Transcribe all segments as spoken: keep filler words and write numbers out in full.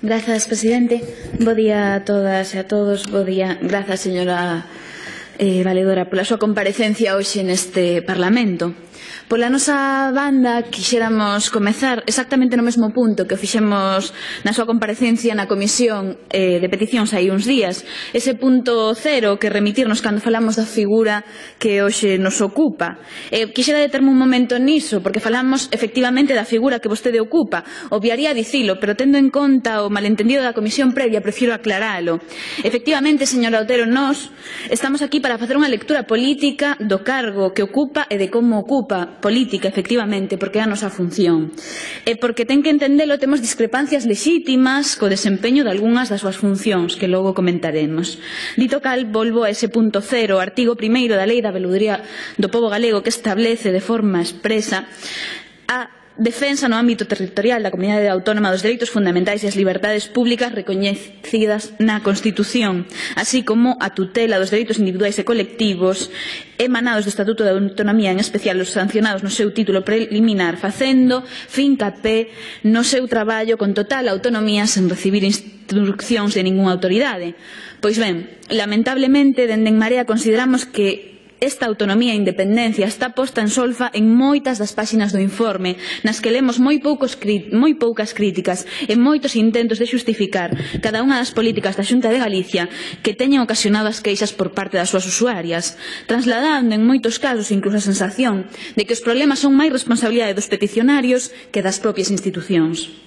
Grazas, presidente. Bo día a todas e a todos. Bo día. Grazas, señora eh, valedora, pola súa comparecencia hoxe neste Parlamento. Pola nosa banda, quixéramos comezar exactamente no mesmo punto que fixemos na súa comparecencia na Comisión eh, de Peticións hai uns días. Ese punto cero que remitirnos cando falamos da figura que hoxe nos ocupa. Eh, quixera determe un momento niso, porque falamos efectivamente da figura que vostede ocupa. Obviaría dicilo, pero tendo en conta o malentendido da Comisión previa, prefiro aclaralo. Efectivamente, señora Otero, nós estamos aquí para facer unha lectura política do cargo que ocupa e de como ocupa política, efectivamente, porque é a nosa función. E porque ten que entendelo, temos discrepancias lexítimas co desempeño de algunhas das súas funcións, que logo comentaremos. Dito cal, volvo a ese punto cero, artigo primeiro da Lei da Veluduría do Pobo Galego, que establece de forma expresa a defensa no ámbito territorial da comunidade autónoma dos dereitos fundamentais e as liberdades públicas recoñecidas na Constitución, así como a tutela dos dereitos individuais e colectivos emanados do Estatuto de Autonomía, en especial os sancionados no seu título preliminar, facendo fincapé no seu traballo con total autonomía sen recibir instruccións de ningunha autoridade. Pois ben, lamentablemente, dende En Marea consideramos que esta autonomía e independencia está posta en solfa en moitas das páxinas do informe, nas que lemos moi, poucos, moi poucas críticas e moitos intentos de xustificar cada unha das políticas da Xunta de Galicia que teñen ocasionado as queixas por parte das súas usuarias, trasladando en moitos casos incluso a sensación de que os problemas son máis responsabilidade dos peticionarios que das propias institucións.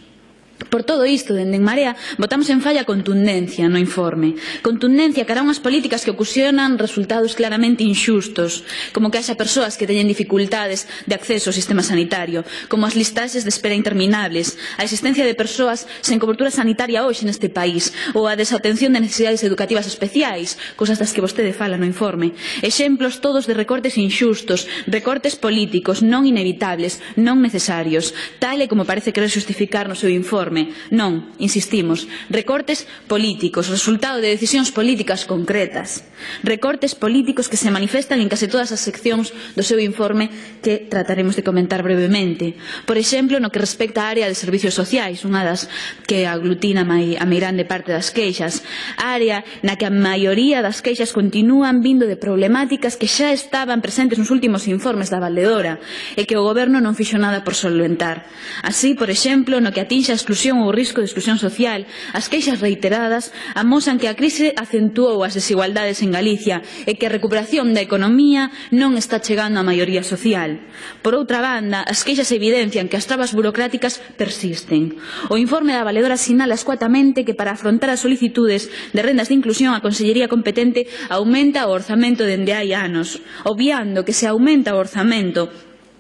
Por todo isto, dende En Marea, votamos en falla contundencia no informe. Contundencia cara a unhas políticas que ocasionan resultados claramente inxustos, como que haxa persoas que teñen dificultades de acceso ao sistema sanitario, como as listaxes de espera interminables, a existencia de persoas sen cobertura sanitaria hoxe neste país, ou a desatención de necesidades educativas especiais, cousas das que vostede fala no informe. Exemplos todos de recortes inxustos, recortes políticos, non inevitables, non necesarios, tal e como parece querer xustificar no seu informe. Non, insistimos, recortes políticos, resultado de decisións políticas concretas. Recortes políticos que se manifestan en case todas as seccións do seu informe que trataremos de comentar brevemente. Por exemplo, no que respecta á área de servicios sociais, unha das que aglutina a meirande parte das queixas, área na que a maioría das queixas continúan vindo de problemáticas que xa estaban presentes nos últimos informes da valedora e que o Goberno non fixo nada por solventar. Así, por exemplo, no que atinxe a exclusión ou risco de exclusión social, as queixas reiteradas amosan que a crise acentuou as desigualdades en Galicia e que a recuperación da economía non está chegando á maioría social. Por outra banda, as queixas evidencian que as trabas burocráticas persisten. O informe da valedora sinala escuatamente que para afrontar as solicitudes de rendas de inclusión a Consellería competente aumenta o orzamento dende hai anos, obviando que se aumenta o orzamento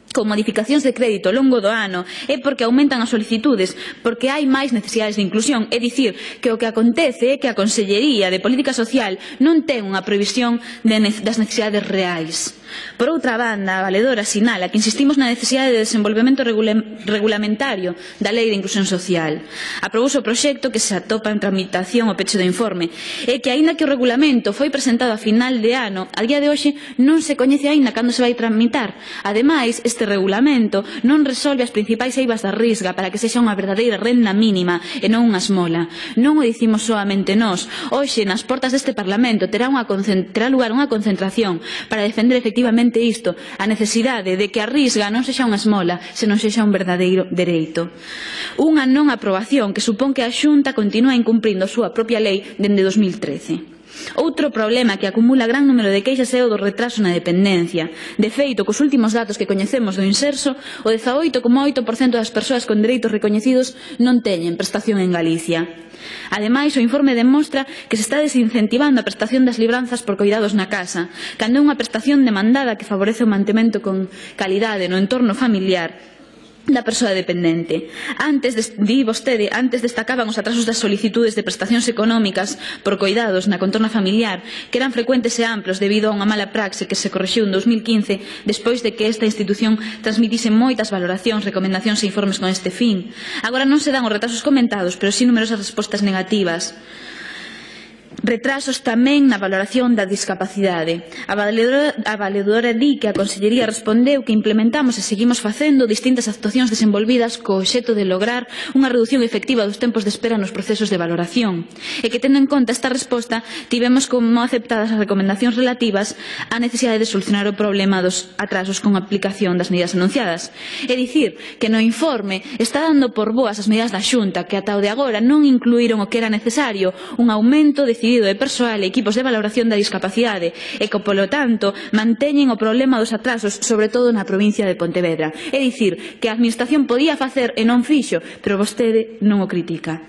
con modificacións de crédito ao longo do ano é porque aumentan as solicitudes, porque hai máis necesidades de inclusión, é dicir, que o que acontece é que a Consellería de Política Social non ten unha previsión de ne das necesidades reais. Por outra banda, a valedora sinala que insistimos na necesidade de desenvolvemento regula regulamentario da Lei de Inclusión Social. Aprobouse o proxecto que se atopa en tramitación ao peche do informe e que, aínda que o regulamento foi presentado a final de ano, a día de hoxe non se coñece aínda cando se vai tramitar. Ademais, este regulamento non resolve as principais eivas da Risga para que sexa unha verdadeira renda mínima e non unha esmola. Non o dicimos soamente nós. Hoxe, nas portas deste Parlamento, terá, unha terá lugar unha concentración para defender efectivamente efectivamente isto, a necesidade de que a Risga non sexa unha esmola, senón sexa un verdadeiro dereito. Unha non aprobación que supón que a Xunta continúa incumprindo a súa propia lei dende dos mil trece. Outro problema que acumula gran número de queixas é o do retraso na dependencia. De feito, cos últimos datos que coñecemos do Inserso, o dezaoito coma oito por cento das persoas con dereitos recoñecidos non teñen prestación en Galicia. Ademais, o informe demostra que se está desincentivando a prestación das libranzas por coidados na casa, cando é unha prestación demandada que favorece o mantemento con calidade no entorno familiar da persoa dependente. Antes, di vostede, antes destacaban os atrasos das solicitudes de prestacións económicas por coidados na contorna familiar, que eran frecuentes e amplos debido a unha mala praxe que se corrixiu en dos mil quince despois de que esta institución transmitise moitas valoracións, recomendacións e informes con este fin. Agora non se dan os retrasos comentados, pero sí numerosas respostas negativas. Retrasos tamén na valoración da discapacidade. A valedora, a valedora di que a Consellería respondeu que implementamos e seguimos facendo distintas actuacións desenvolvidas co obxecto de lograr unha reducción efectiva dos tempos de espera nos procesos de valoración e que, tendo en conta esta resposta, tivemos como aceptadas as recomendacións relativas á necesidade de solucionar o problema dos atrasos con a aplicación das medidas anunciadas. É dicir, que no informe está dando por boas as medidas da Xunta que ata o de agora non incluíron o que era necesario, un aumento decidido de persoal e equipos de valoración da discapacidade e que, polo tanto, manteñen o problema dos atrasos, sobre todo na provincia de Pontevedra. É dicir, que a Administración podía facer e non fixo, pero vostede non o critica.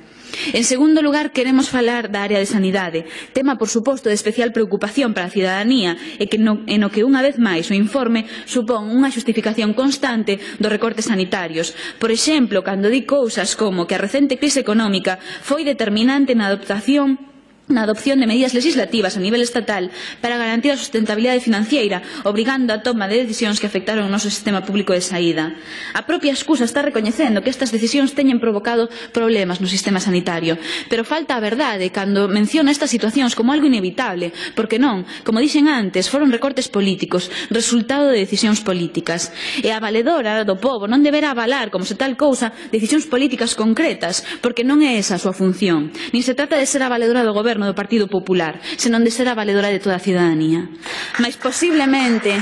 En segundo lugar, queremos falar da área de sanidade, tema, por suposto, de especial preocupación para a cidadanía e que no, en o que, unha vez máis, o informe supón unha xustificación constante dos recortes sanitarios. Por exemplo, cando di cousas como que a recente crise económica foi determinante na adaptación na adopción de medidas legislativas a nivel estatal para garantir a sustentabilidade financiera, obrigando a toma de decisións que afectaron o noso sistema público de saída. A propia excusa está recoñecendo que estas decisións teñen provocado problemas no sistema sanitario, pero falta a verdade cando menciona estas situacións como algo inevitable, porque non, como dixen antes, foron recortes políticos, resultado de decisións políticas. E a valedora do pobo non deberá avalar, como se tal cousa, decisións políticas concretas, porque non é esa a súa función. Nin se trata de ser a valedora do goberno do Partido Popular, senón de ser a valedora de toda a cidadanía. Mais posiblemente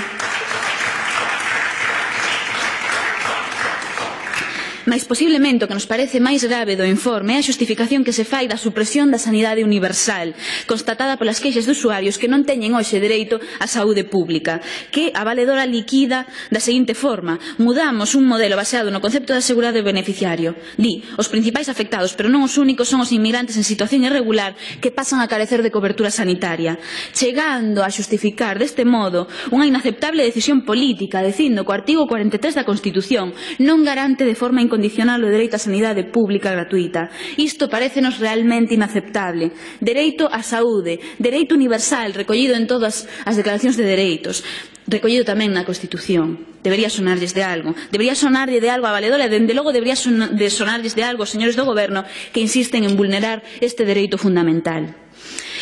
Mais posiblemente o que nos parece máis grave do informe é a xustificación que se fai da supresión da sanidade universal, constatada polas queixas de usuarios que non teñen hoxe dereito á saúde pública, que a valedora liquida da seguinte forma: mudamos un modelo baseado no concepto de asegurado e beneficiario. Di, os principais afectados, pero non os únicos, son os inmigrantes en situación irregular que pasan a carecer de cobertura sanitaria, chegando a xustificar deste modo unha inaceptable decisión política, dicindo que o artigo cuarenta e tres da Constitución non garante de forma incondicional condicional o dereito á sanidade pública gratuita. Isto parécenos realmente inaceptable. Dereito á saúde, dereito universal recollido en todas as declaracións de dereitos, recollido tamén na Constitución. Debería sonarlles de algo. Debería sonarlle de algo a valedora e, dende logo, debería sonarlles de algo aos señores do Goberno que insisten en vulnerar este dereito fundamental.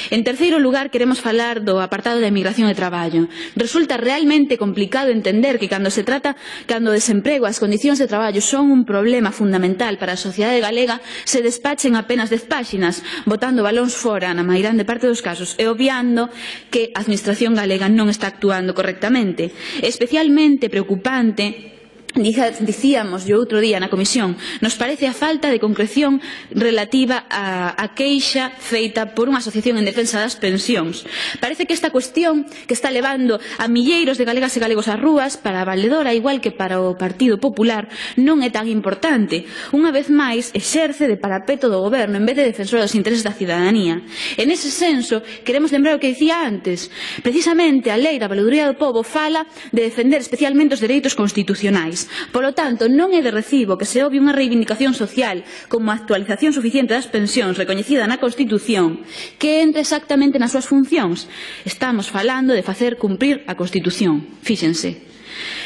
En terceiro lugar, queremos falar do apartado da emigración e traballo. Resulta realmente complicado entender que cando se trata, cando o desemprego, as condicións de traballo son un problema fundamental para a sociedade galega, se despachen apenas dez páxinas, botando balóns fora na mairande parte dos casos e obviando que a Administración galega non está actuando correctamente. Especialmente preocupante, dicíamos yo outro día na comisión, nos parece a falta de concreción relativa á, á queixa feita por unha asociación en defensa das pensións. Parece que esta cuestión que está levando a milleiros de galegas e galegos ás rúas, para a valedora, igual que para o Partido Popular, non é tan importante. Unha vez máis, exerce de parapeto do goberno en vez de defensor dos intereses da cidadanía. En ese senso, queremos lembrar o que dicía antes. Precisamente, a Lei da Valedoría do Pobo fala de defender especialmente os dereitos constitucionais. Polo tanto, non é de recibo que se obvie unha reivindicación social como a actualización suficiente das pensións recoñecida na Constitución que entre exactamente nas súas funcións. Estamos falando de facer cumprir a Constitución. Fíxense.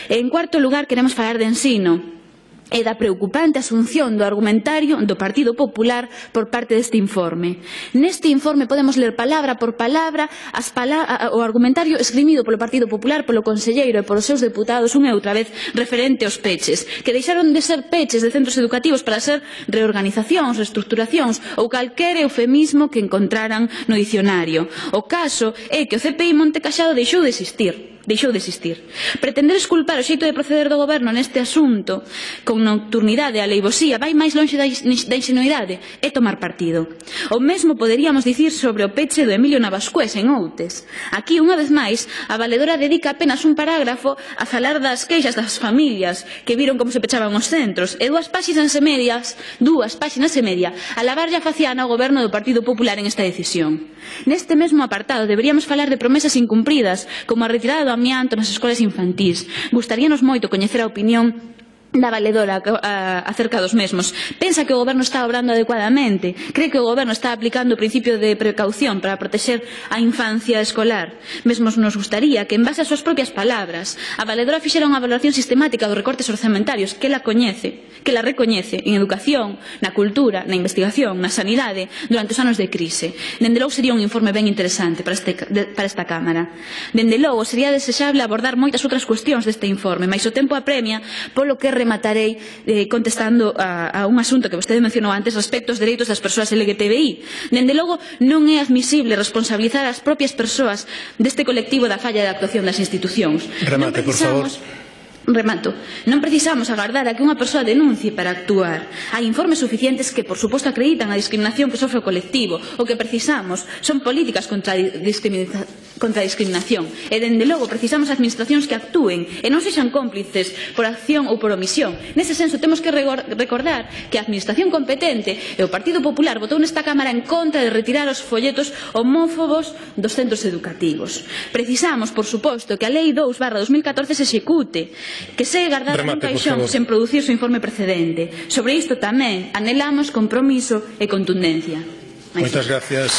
En cuarto lugar, queremos falar de ensino e da preocupante asunción do argumentario do Partido Popular por parte deste informe. Neste informe podemos ler palabra por palabra as pala o argumentario esgrimido polo Partido Popular, polo conselleiro e polos seus deputados unha e outra vez referente aos peches, que deixaron de ser peches de centros educativos para ser reorganizacións, reestructuracións ou calquer eufemismo que encontraran no dicionario. O caso é que o C P I Monte Caxado deixou de existir. deixou de existir. Pretender esculpar o xeito de proceder do goberno neste asunto con nocturnidade e aleivosía vai máis lonxe da ingenuidade e tomar partido. O mesmo poderíamos dicir sobre o peche do Emilio Navascués en Outes. Aquí, unha vez máis, a valedora dedica apenas un parágrafo a falar das queixas das familias que viron como se pechaban os centros e dúas páxinas e medias, dúas páxinas e media, a lavarlle a faciana ao goberno do Partido Popular en esta decisión. Neste mesmo apartado deberíamos falar de promesas incumpridas, como a retirada do amianto nas escolas infantís. Gustaríanos moito coñecer a opinión da valedora acerca dos mesmos. Pensa que o Goberno está obrando adecuadamente? Cree que o Goberno está aplicando o principio de precaución para protexer a infancia escolar? Mesmos nos gustaría que, en base ás súas propias palabras, a valedora fixera unha valoración sistemática dos recortes orzamentarios que la coñece, que la recoñece en educación, na cultura, na investigación, na sanidade, durante os anos de crise. Dende logo sería un informe ben interesante para, este, para esta Cámara. Dende logo sería desexable abordar moitas outras cuestións deste informe, mais o tempo apremia, polo que rematarei eh, contestando a, a un asunto que vostede mencionou antes respecto aos dereitos das persoas L G T B I. Dende logo, non é admisible responsabilizar as propias persoas deste colectivo da falla de actuación das institucións. Remate, por favor. Remato. Non precisamos agardar a que unha persoa denuncie para actuar. Hai informes suficientes que, por suposto, acreditan a discriminación que sofre o colectivo. O que precisamos son políticas contra a discriminación contra a discriminación. E, dende logo, precisamos administracións que actúen e non sexan cómplices por acción ou por omisión. Nese senso, temos que recordar que a administración competente e o Partido Popular votou nesta Cámara en contra de retirar os folletos homófobos dos centros educativos. Precisamos, por suposto, que a Lei dous barra dos mil catorce se execute, que segue guardada nun caixón sen producir o informe precedente. Sobre isto tamén anhelamos compromiso e contundencia. Moitas gracias.